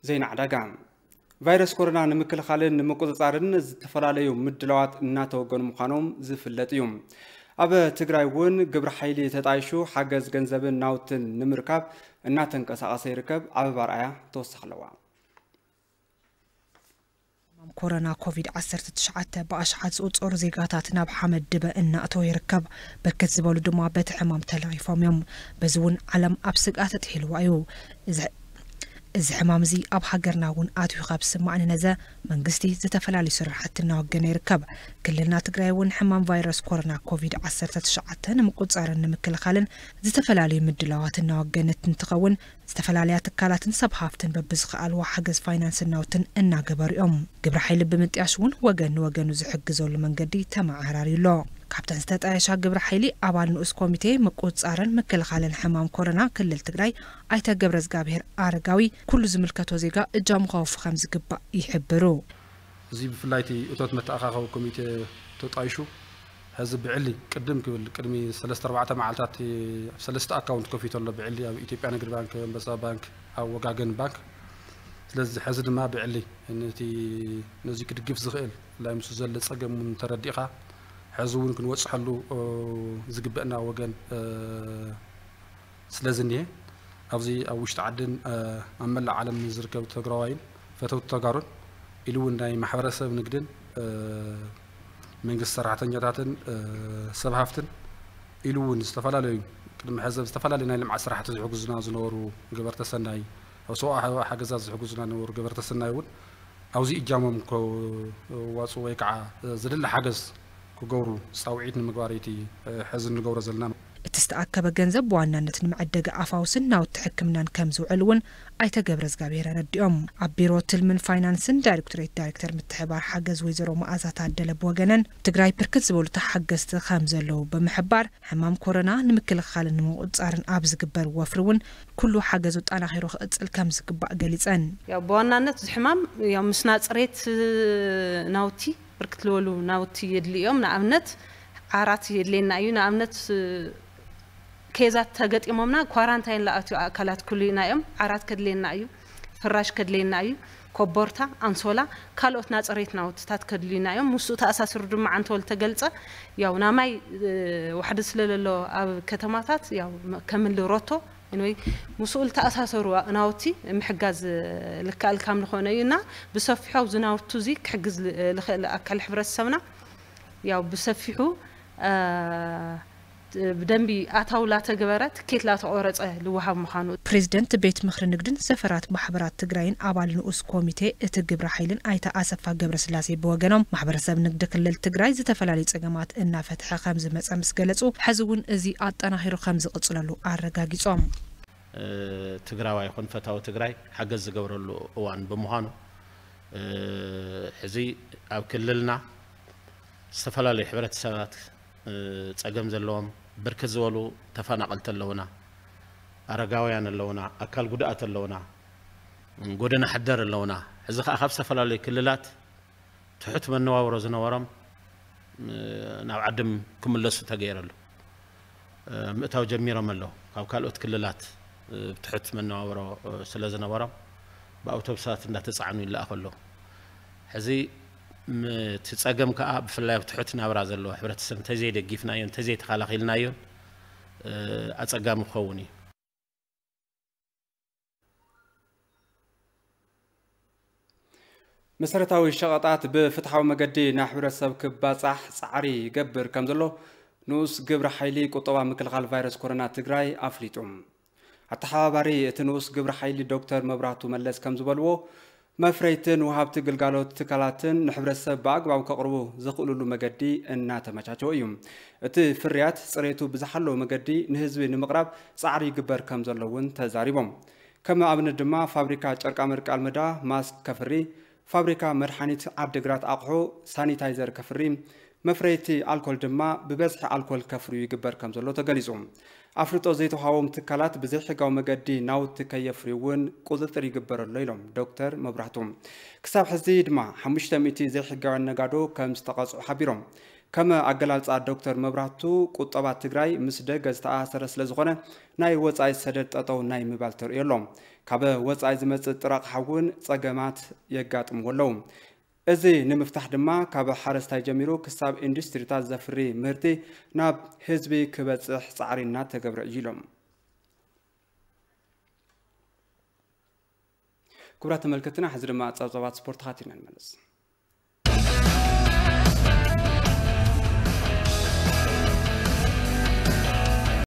ዜና ዕዳጋ። ቫይረስ ኮሮና ንምክልኻልን ንምቁፅፃርን ዝተፈላለዩ ምድላዋት እናተወገኑ ምዃኖም ዝፍለጥ እዩ። ኣብ ትግራይ እውን ግብረ ሓይሊ ተጣይሹ ሓገዝ ገንዘብን ናውትን ንምርካብ እናተንቀሳቐሰ ይርከብ። ኣበባ ኣርኣያ ተወሳኺ ኣለዋ። ሕማም ኮሮና ኮቪድ ዓሰርተ ትሽዓተ ብኣሽሓት ዝቑጸሩ ዜጋታት ናብ ሓመድ ድበ እናእተወ ይርከብ። ብርክት ዝበሉ ድማ በቲ ሕማም ተለኺፎም እዮም። በዚ እውን ዓለም ኣብ ስግኣት ኣጥሒልዋ እዩ። እዚ እዚ ሕማም እዚ ኣብ ሃገርና እውን ኣትዩ ካብ ዝስማዕ ንነዘ መንግስቲ ዝተፈላለዩ ስራሕቲ እናወገነ ይርከብ። ክልልና ትግራይ እውን ሕማም ቫይረስ ኮሮና ኮቪድ ዓሰርተ ትሽዓተ ንምቁፅፃርን ንምክልኻልን ዝተፈላለዩ ምድላዋት እናወገነት እንትኸውን፣ ዝተፈላለያ ትካላትን ሰብ ሃፍትን በብዝኸኣልዎ ሓገዝ ፋይናንስን ናውትን እናገበሩ እዮም። ግብረ ሓይሊ ብምጥያሽ እውን ወገን ንወገኑ ዝሕግዘሉ መንገዲ ተመዓራርዩ ኣሎ። ካብተን ዝተጣየሻ ግብረ ሓይሊ ኣባል ንኡስ ኮሚቴ ምቁፅፃርን ምክልኻልን ሕማም ኮሮና ክልል ትግራይ ኣይተ ገብረዝጋብሄር ኣረጋዊ ኩሉ ዝምልከቶ ዜጋ እጃሙ ከወፊ ከም ዝግባእ ይሕብሩ። እዚ ብፍላይ እቲ እቶት መተኣኻኸቢ ኮሚቴ ተጣይሹ ሕዚ ብዕሊ ቅድም ክብል ቅድሚ ሰለስተ ኣርባዕተ መዓልታት ኣብ ሰለስተ ኣካውንት ከፊቱ ኣሎ። ብዕሊ ኣብ ኢትዮጵያ ንግዲ ባንክ፣ ኣንበሳ ባንክ፣ ኣብ ወጋገን ባንክ። ስለዚ ሕዚ ድማ ብዕሊ ነቲ ነዚ ክድግፍ ዝኽእል ብፍላይ ምስ ዘሎ ፀገም እውን ተረዲእኻ ሕዚ እውን ክንወፅሐሉ ዝግበአና ወገን ስለ ዝኒሀ ኣብዚ ኣብ ውሽጢ ዓድን ኣብ መላእ ዓለም ንዝርከቡ ትግራዋይን ፈተውቲ ተጋሩን ኢሉ እውን ናይ ማሕበረሰብ ንግድን መንግስቲ ሰራሕተኛታትን ሰብ ሃፍትን ኢሉ እውን ዝተፈላለዩ ቅድሚ ሕዚ ኣብ ዝተፈላለዩ ናይ ልምዓት ስራሕቲ ዝሕግዙና ዝነበሩ ገበርተ ሰናይ ኣብ ሰብኣዊ ሓገዛት ዝሕግዙና ዝነበሩ ገበርተ ሰናይ እውን ኣብዚ እጃሞም ከዋፅኡ ወይ ከዓ ዝድለ ሓገዝ ክገብሩ ፃውዒት ንምግባር እዩ እቲ ሕዚ እንገብሮ ዘለና። እቲ ዝተኣከበ ገንዘብ ብዋናነት ንመዐደጊ ኣፋውስን ናውቲ ሕክምናን ከም ዝውዕል እውን ኣይተ ገብረዝጋብሄር ኣረዲኦም። ኣብ ቢሮ ትልምን ፋይናንስን ዳይሬክቶሬት ዳይሬክተር ምትሕብባር ሓገዝ ወይዘሮ መኣዛ ታደለ ብወገነን ትግራይ ብርክት ዝበሉ ተሓገዝቲ ከም ዘለዉ ብምሕባር ሕማም ኮሮና ንምክልኻልን ንምቁፅፃርን ኣብ ዝግበር ወፍሪ እውን ኩሉ ሓገዝ ኣጠናኺሩ ክቕፅል ከም ዝግባእ ገሊፀን። ያው ብዋናነት እዚ ሕማም ያው ምስ ናፅሬት ናውቲ ብርክት ዝበሉ ናውቲ የድልዮም። ንኣብነት ዓራት የድልየና እዩ። ንኣብነት ኬዛት ተገጢሞምና ኳራንታይን ለኣትዩ ኣካላት ክልዩና እዮም። ዓራት ከድልየና እዩ፣ ፍራሽ ከድልየና እዩ፣ ኮቦርታ፣ ኣንሶላ፣ ካልኦት ናፅሬት ናውትታት ከድልዩና እዮም። ምስኡ ተኣሳሲሩ ድማ ዓንተወል ተገልፀ ያው ናማይ ዋሕዲ ስለለሎ ኣብ ከተማታት ያው ከምሊ ሮቶ ወይ ምስኡ ዝተኣሳሰሩ ናውቲ ምሕጋዝ ልከኣል ካብ ዝኾነ እዩ እና ብሰፊሖ ኣብዚ ናውቱ እዚ ክሕግዝ ልኽእል ኣካል ሕብረተሰብና ያው ብሰፊሑ ብደንቢ ኣታው ላተገበረ ትኬት ላተቆረፀ ልወሃብ ምዃኑ። ፕሬዝደንት ቤት ምኽሪ ንግድን ዘፈራት ማሕበራት ትግራይን ኣባል ንኡስ ኮሚቴ እቲ ግብረ ሓይልን ኣይተ ኣሰፋ ገብረስላሴ ብወገኖም ማሕበረሰብ ንግዲ ክልል ትግራይ ዝተፈላለዩ ፀገማት እናፈትሐ ከም ዝመፀ ምስ ገለፁ ሕዚ እውን እዚ ኣጠናኺሩ ከም ዝቕፅለሉ ኣረጋጊፆም። ትግራዋይ ይኹን ፈታዊ ትግራይ ሓገዝ ዝገብረሉ እዋን ብምዃኑ ሕዚ ኣብ ክልልና ዝተፈላለዩ ሕብረተሰባት ፀገም ዘለዎም ብርክት ዝበሉ ተፈናቐልቲ ኣለውና፣ ኣረጋውያን ኣለውና፣ ኣካል ጉድኣት ኣለውና፣ ጎደና ሓደር ኣለውና። ሕዚ ከዓ ካብ ዝተፈላለዩ ክልላት ትሑት መነባብሮ ዝነበሮም ናብ ዓድም ክምለሱ ተገይረሉ ምእታው ጀሚሮም ኣለዉ። ካብ ካልኦት ክልላት ብትሑት መነባብሮ ስለ ዝነበሮም ብኣውቶቡሳት እንዳተፃዕኑ ይለኣኹ ኣለዉ። ሕዚ እቲ ፀገም ከዓ ብፍላይ ኣብ ትሑት ናብራ ዘለዎ ሕብረተሰብ እንተዘይደጊፍናዮ እንተዘይተኸላኺልናዮን ኣፀጋሚ ክኸውን እዩ። መሰረታዊ ሸቐጣት ብፍትሓዊ መገዲ ናብ ሕብረተሰብ ክባፃሕ ፃዕሪ ይገብር ከም ዘሎ ንኡስ ግብረ ሓይሊ ቁጠባ ምክልኻል ቫይረስ ኮሮና ትግራይ ኣፍሊጡ። ኣተሓባባሪ እቲ ንኡስ ግብረ ሓይሊ ዶክተር መብራህቱ መለስ ከም ዝበልዎ፣ መፍረይትን ወሃብቲ ግልጋሎት ትካላትን ንሕብረተሰብ ብኣግባብ ከቕርቡ ዝኽእልሉ መገዲ እናተመቻቸወ እዩ። እቲ ፍርያት ፅሬቱ ብዝሓለወ መገዲ ንህዝቢ ንምቕራብ ፃዕሪ ይግበር ከም ዘሎ እውን ተዛሪቦም። ከም ኣብነት ድማ ፋብሪካ ጨርቃመርቂ ኣልመዳ ማስክ ከፍሪ፣ ፋብሪካ መድሓኒት ዓዲግራት ኣቕሑ ሳኒታይዘር ከፍሪ፣ መፍረይቲ ኣልኮል ድማ ብበዝሒ ኣልኮል ከፍርዩ ይግበር ከም ዘሎ ተገሊፁ። ኣፍልጦ ዘይተዋሃቦም ትካላት ብዘይሕጋዊ መገዲ ናውቲ ከየፍርዩ እውን ቁፅፅር ይግበረሎ ኢሎም ዶክተር መብራህቱ። ክሳብ ሕዚ ድማ ሓሙሽተ ሚእቲ ዘይሕጋውያን ነጋዶ ከም ዝተቐፅዑ ሓቢሮም። ከም ኣገላልፃ ዶክተር መብራቱ፣ ቁጠባ ትግራይ ምስ ደገ ዝተኣሳሰረ ስለ ዝኾነ ናይ ወፃኢ ሰደድ ጠጠው ናይ ምባል ተርእዮ ኣሎ። ካብ ወፃኢ ዝመፅእ ጥረ ኣቕሓ እውን ፀገማት የጋጥምዎ ኣለዉ። እዚ ንምፍታሕ ድማ ካብ ሓረስታይ ጀሚሩ ክሳብ ኢንዱስትሪታት ዘፍሪ ምህርቲ ናብ ህዝቢ ክበፅሕ ፃዕሪ እናተገብረ እዩ ኢሎም። ክቡራት ተመልከትና፣ ሕዚ ድማ ፀብፀባት ስፖርት ተኻቲልና ንመለስ።